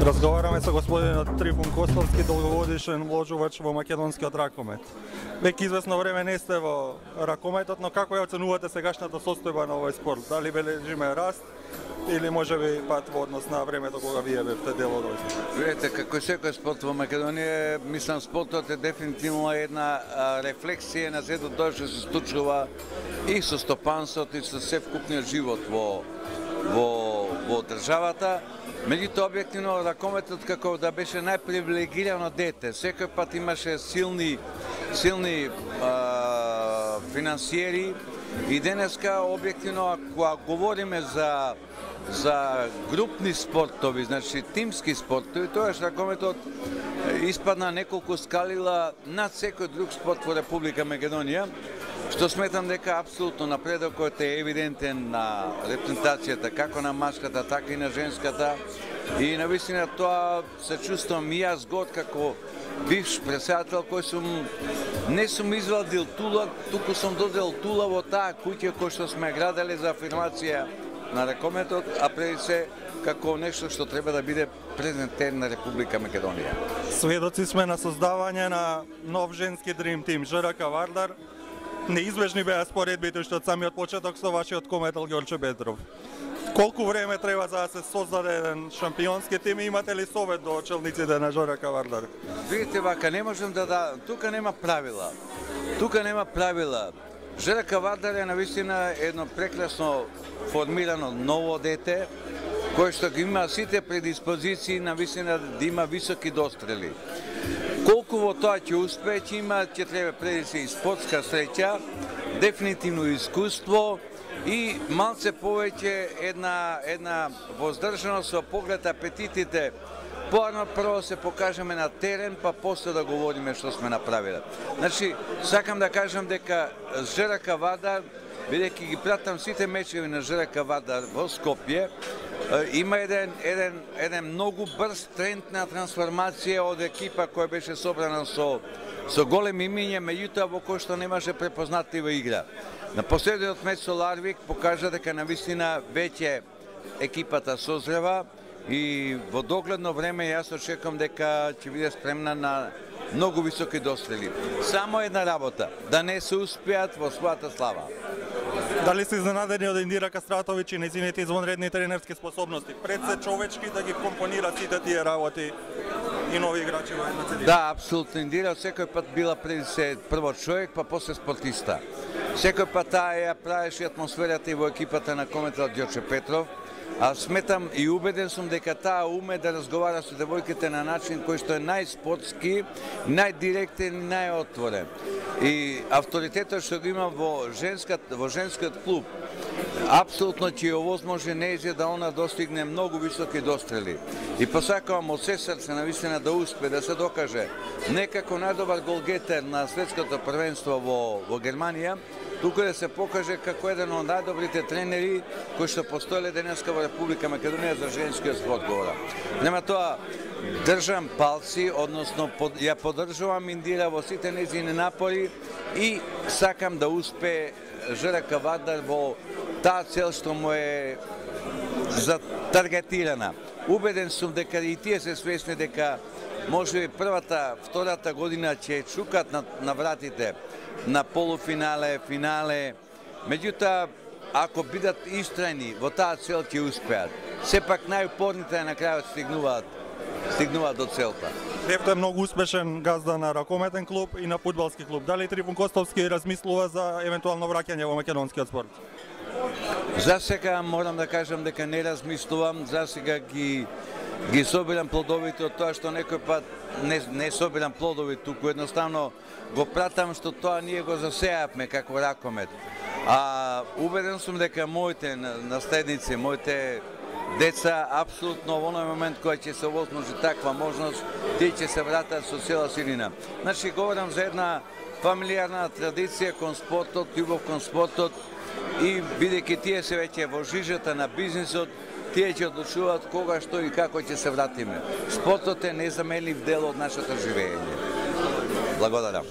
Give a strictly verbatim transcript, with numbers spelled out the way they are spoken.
Разговараме со господинот Трифун Костовски, долгогодишен вложувач во македонскиот ракомет. Веќе известно време не сте во ракометот, но како ја оценувате сегашната состојба на овој спорт? Дали бележиме раст или можеби пат во однос на времето кога вие бевте дел од овој? Видете, како секој спорт во Македонија, мислам спортот е дефинитивно една а, рефлексија на сето тоа што се случува и со стопанството и со севкупниот живот во во во државата. Меѓутоа, објективно, ракометот како да беше најпривилегирано дете. Секој пат имаше силни, силни а, финансиери и денеска, објективно, ако говориме за, за групни спортови, значи тимски спортови, тоаш ракометот испадна неколку скалила над секој друг спорт во Република Македонија, што сметам дека апсолутно напредокот е евидентен на репрезентацијата, како на мажката, така и на женската. И навистина тоа се чувствувам и јас год како бивш председател кој сум не сум извадил тула, туку сум додел тула во таа куќа кој што сме градели за афирмација на ракометот, а преди се како нешто што треба да биде презентен на Република Македонија. Сведоци сме на создавање на нов женски дрим тим ЖРК Вардар. Неизбежни беа споредбите што од самиот почеток со вашиот кометел Ѓорче Петров. Колку време треба за да се создаде еден шампионски тим и имате ли совет до челниците на ЖРК Вардар? Видите вака, не можем да да, тука нема правила. Тука нема правила. ЖРК Вардар е навистина едно прекрасно формирано ново дете кој што ги има сите предиспозиции навистина да има високи дострели. Колку во тоа ќе успее, ќе има, ќе треба преди се и спортска среќа, дефинитивно искуство и малце повеќе една една воздржаност со поглед апетитите. Поарно прво се покажеме на терен, па после да говориме што сме направиле. Значи, сакам да кажам дека ЖРК Вардар, бидејќи ги пратам сите мечеви на ЖРК Вардар во Скопје, има еден, еден, еден многу брз тренд на трансформација од екипа која беше собрана со, со големи имиња, меѓутоа во кој што немаше препознатлива игра. На последниот меч со Ларвик покажа дека навистина веќе екипата созрева и во догледно време јас очекувам дека ќе биде спремна на многу високи дострели. Само една работа, да не се успеат во својата слава. Дали се изненадени од Индира Кастратовиќ и нејзините извонредни тренерски способности? Пред се човечки да ги компонира сите тие работи и нови играчи во една цедина? Да, апсолутно. Индира секој пат била преди се прво човек, па после спортиста. Секој пат таа ја правеше атмосферата и во екипата на кометел Ѓорче Петров. А сметам и убеден сум дека таа уме да разговара со девојките на начин кој што е најспортски, најдиректен и најотворен. И авторитетот што го има во женскат, во женскиот клуб, апсолутно ќе ја овозможи нејзе да она достигне многу високи дострели. И посакувам од се срце навистина да успе да се докаже не како најдобар голгетер на светското првенство во, во Германија, туку да се покаже како еден од најдобрите тренери кои што постоеле денеска во Република Македонија за женскиот спорт говорам. Нема тоа, држам палци, односно под, ја поддржувам Индира во сите нејзини напори и сакам да успее ЖРК Вардар во таа цел што му е затаргетирана. Убеден сум дека и тие се свесни дека можеби првата, втората година ќе чукат на, на вратите на полуфинале, финале. Меѓутоа, ако бидат истрајни во таа цел ќе успеат. Сепак најупорните на крајот стигнуваат стигнуваат до целта. Бевте многу успешен газда на ракометен клуб и на фудбалски клуб. Дали Трифун Костовски размислува за евентуално враќање во македонскиот спорт? За сега морам да кажам дека не размислувам, за сега ги ги собирам плодовите од тоа што некој пат не, не собирам плодови, туку едноставно го пратам што тоа ние го засеавме како ракомет. А убеден сум дека моите наследници, моите деца, апсолутно во оној момент кој ќе се овозможи таква можност, тие ќе се вратат со цела силина. Значи, говорам за една фамилиарна традиција кон спортот, љубов кон спортот и бидејќи тие се веќе во жижата на бизнисот, тие ќе одлучуваат кога, што и како ќе се вратиме. Спортот е незаменлив дел од нашето живење. Благодарам.